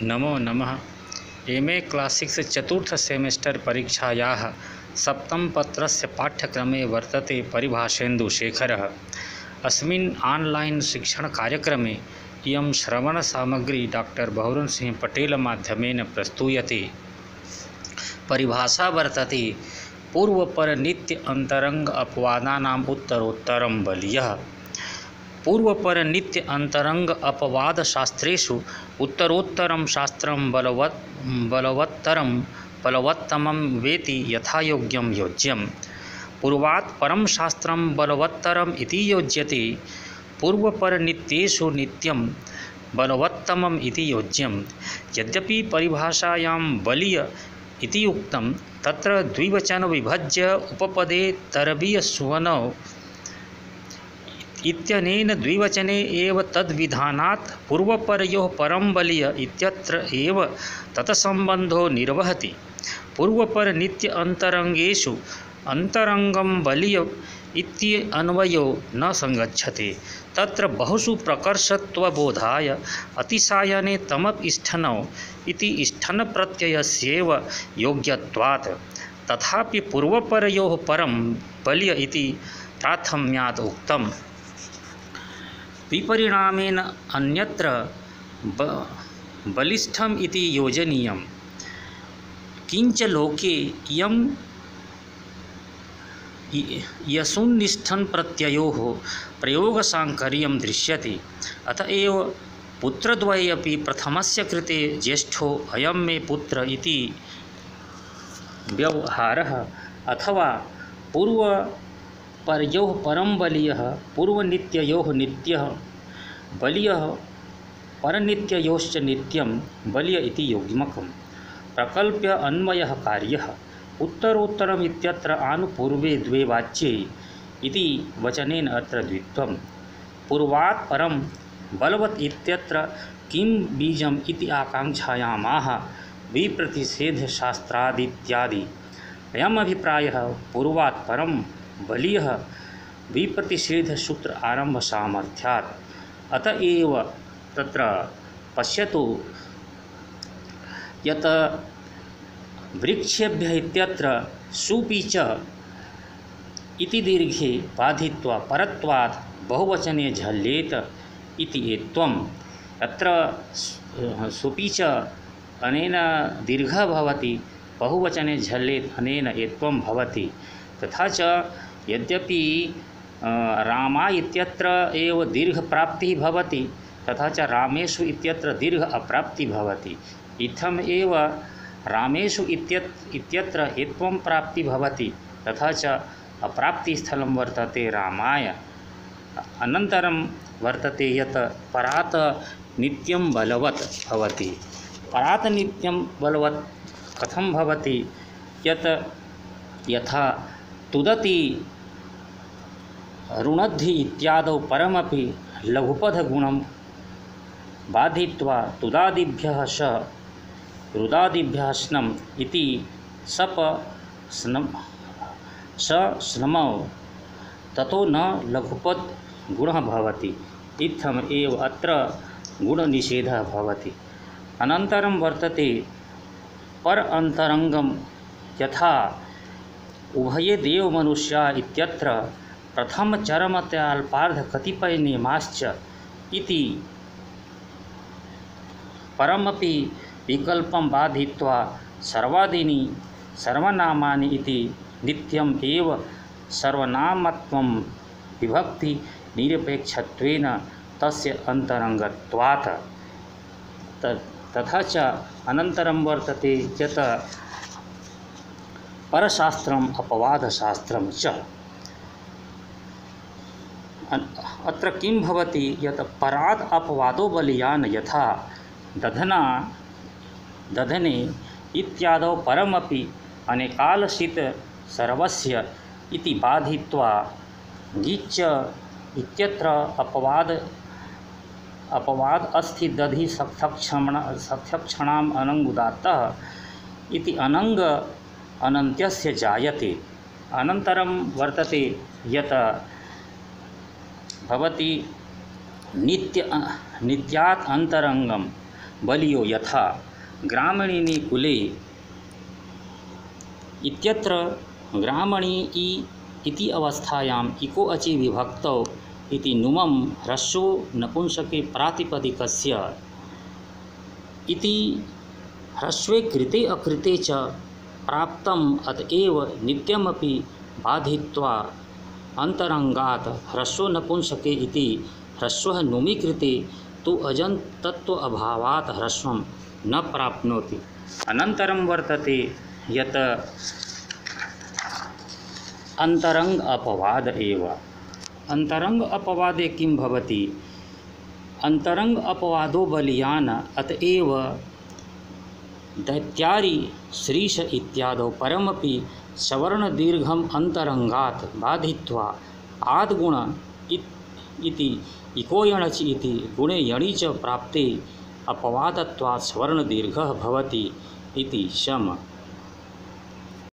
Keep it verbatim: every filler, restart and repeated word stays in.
नमो नमः। M A क्लासिक्स् चतुर्थ semester परीक्षायाः सप्तमपत्रस्य पाठ्यक्रमे वर्तते परिभाषेन्दुशेखरः। अस्मिन् आन्लैन् शिक्षणकार्यक्रमे इयं श्रवणसामग्री डाक्टर् बहुरनसिंह पटेल माध्यमेन प्रस्तूयते। परिभाषा वर्तते पूर्वपर नित्य अंतरंग अपवादानाम् उत्तरोत्तरं बलीयः। पूर्वपर नित्य अंतरंग अपवाद शास्त्रेषु उत्तरोत्तरं शास्त्रं बलवत् बलवत्तरं बलवत्तमं वेति यथायोग्यं योज्यम्। पूर्वात् परं शास्त्रं बलवत्तरम् इति योज्यते। पूर्वपर नित्येषु नित्यं बलवत्तमम् इति योज्यम्। यद्यपि परिभाषायां बलीय इति उक्तं, तत्र द्विवचन विभज्य उपपदे तरबीयसुवनौ इत्यनेन द्विवचने एव तद्विधानात् पूर्वपरयोः परं बलीय इत्यत्र एव तत्सम्बन्धो निर्वहति। पूर्वपर नित्य अंतरंगेषु अंतरंगं बलीय इत्यन्वयो न संगच्छते। तत्र बहुषु प्रकर्षत्वबोधाय अतिशायने तमपि-इष्ठनौ इति इष्ठनप्रत्ययस्यैव योग्यत्वात्। तथापि पूर्वपरयोः परं बलीय इति प्राथम्यात् उक्तम्। विपरिणामेन अन्यत्र बलिष्ठम् इति योजनीयम्। किंच लोके इयं यसुन्निष्ठन् प्रत्ययोः प्रयोगसाङ्कर्यं दृश्यते। अतएव पुत्रद्वये अपि प्रथमस्य कृते ज्येष्ठो अयं मे पुत्र इति व्यवहारः, अथवा पूर्व परयोः परं बलीयः पूर्वनित्ययोः नित्यः बलीयः परनित्ययोश्च नित्यं बलीय इति योग्यमकम्। प्रकल्प्य अन्वयः कार्यः। उत्तरोत्तरम् इत्यत्र आनुपूर्वे द्वे वाच्ये इति वचनेन अत्र द्वित्वम्। पूर्वात् परं बलवत् इत्यत्र किं बीजम् इति आकाङ्क्षायामाह विप्रतिषेधशास्त्रादित्यादि। अयम् अभिप्रायः पूर्वात् परं बलीयः विप्रतिषेधसूत्र आरम्भ सामर्थ्यात्। अतएव तत्र पश्यतु यत् वृक्षेभ्यः इत्यत्र सुपि च इति दीर्घे बाधित्वा परत्वात् बहुवचने झल्येत इति एत्वम्। अत्र सुपि च अनेन दीर्घः भवति, बहुवचने झल्येत अनेन एत्वं भवति। तथा च यद्यपि रामा इत्यत्र एव दीर्घ प्राप्तिः भवति, तथा च रामेषु इत्यत्र दीर्घ अप्राप्तिः भवति। इत्थम् एव रामेषु इत्यत्र इत्यत्र एत्वं प्राप्तिः भवति, तथा च अप्राप्तिस्थलं वर्तते रामाय। अनन्तरं वर्तते यत् परात् नित्यं बलवत् भवति। परात् नित्यं बलवत् कथं भवति? यत् यथा तुदति रुणद्धि इत्यादौ परमपि लघुपदगुणं बाधित्वा तुदादिभ्यः स रुदादिभ्यः स्नम् इति सप स्नम् स स्नमौ ततो न लघुपद गुणः भवति। इत्थम् एव अत्र गुणनिषेधः भवति। अनन्तरं वर्तते पर अंतरंगम। यथा उभये देव मनुष्या इत्यत्र प्रथम चरमत्याल्पार्ध कतिपय नियमाश्च इति परमपि विकल्पं बाधित्वा सर्वादीनि सर्वनामानि इति नित्यम् एव सर्वनामत्वं विभक्ति निरपेक्षत्वेन तस्य अंतरंगत्वात्। तथा च अनन्तरं वर्तते यत् परशास्त्रम् अपवादशास्त्रं च। अत्र किं भवति? यत् परात् अपवादो बलीयान् यथा दधना दधने इत्यादौ परमपि अनेकालसित सर्वस्य इति बाधित्वा गीच्च इत्यत्र अपवाद अपवाद अस्ति दधि सख्यक्षण सख्यक्षणाम् अनङ्गुदात्तः इति अनङ्ग अनन्त्यस्य जायते। अनन्तरं वर्तते यत् भवति नित्य नित्यात् अंतरंगम बलियो यथा ग्रामणीनि कुले इत्यत्र ग्रामणी इ इति अवस्थायाम् इको अचि विभक्तौ इति नुमं ह्रस्वो नपुंसके प्रातिपदिकस्य इति ह्रस्वे कृते अकृते च प्राप्तम् अतएव नित्यमपि बाधित्वा अंतरंगात् ह्रस्वो नपुंसके इति ह्रस्वः नुमि कृते तु अजन्तत्व अभावात् ह्रस्वं न प्राप्नोति। अनन्तरं वर्तते यत् अंतरंग अपवाद एव। अंतरंग अपवादे किं भवति? अंतरंग अपवादो बलियान अतएव दैत्यारि श्रीश इत्यादौ परमपि सवर्णदीर्घम अंतरंगात् बाधित्वा आद्गुण इति इकोयणचि इति गुणे यणि च प्राप्ते अपवादत्वात् सवर्णदीर्घः भवति इति शम।